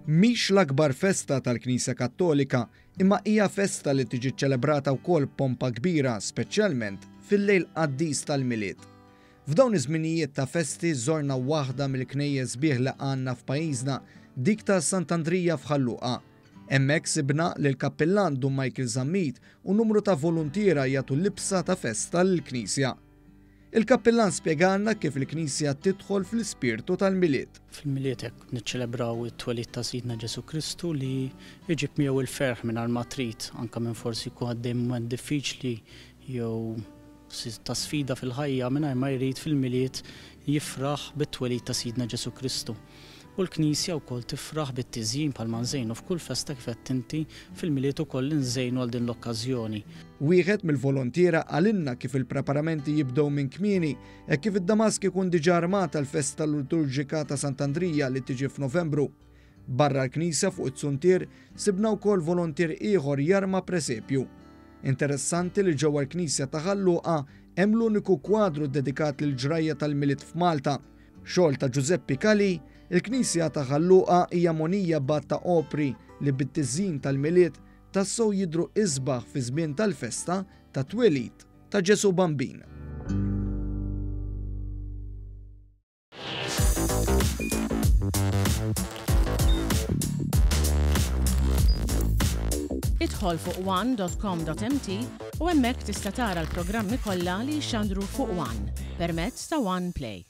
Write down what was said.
Mhix l-akbar festa tal-Knisja Kattolika, imma hija festa li tiġi ċċelebrata wkoll b'pompa kbira speċjalment fil-lejl qaddis tal-Milied. F'dawn iż-żminijiet ta' festi żorna waħda mill-knejjes sbieħ li għandna f'pajjiżna, dik ta' Sant'Andrija f'Ħal Luqa. Hemmhekk sibna lill-Kappillan Dun Michael Zammit u numru ta' voluntiera jagħtu libsa ta' festa lill-knisja. Il-kappillan spjegalna kif il-Knisja tidħol fl-ispirtu tal-Milied. Fil-Milied hekk niċċelebraw it-twelid ta' Sidna Ġesù Kristu li jġib miegħu l-ferħ mingħajr ma trid, anke minn forsi jkun għaddej mument diffiċli jew ta' sfida fil-ħajja mingħajr ma jrid fil-Milied jifraħ bit-twelid ta' Sidna Ġesù Kristu. U l-Knisja wkoll tifraħ bit-tiżjin bħalma nżejnu f'kull festa kif għedt inti, fil-Milied ukoll inżejnu għal din l-okkażjoni. Wieħed mill-volontiera qalilna kif il-preparamenti jibdew minn kmieni, hekk kif id-damask ikun diġà armat għall-festa liturġika ta' Sant'Andrija li tiġi f'Novembru. Barra l-knisja fuq iz-zuntier sibna wkoll volontier ieħor jarma presepju. Interessanti li ġewwa l-knisja ta' Ħal Luqa hemm l-uniku kwadru ddedikat lill-ġrajja tal-Milied f'Malta. Xogħol ta' Ġużeppi Calì, il-knisja ta' Ħal Luqa hija mogħnija b'għadd ta' opri li bit-tiżjin tal-Milied tassew jidhru isbaħ fiż-żmien tal-festa tat-twelid ta' Ġesù Bambin. Idħol fuq one.com.mt u hemmhekk tista' tara l-programmi kollha li jixxandru fuq One permezz ta' One Play.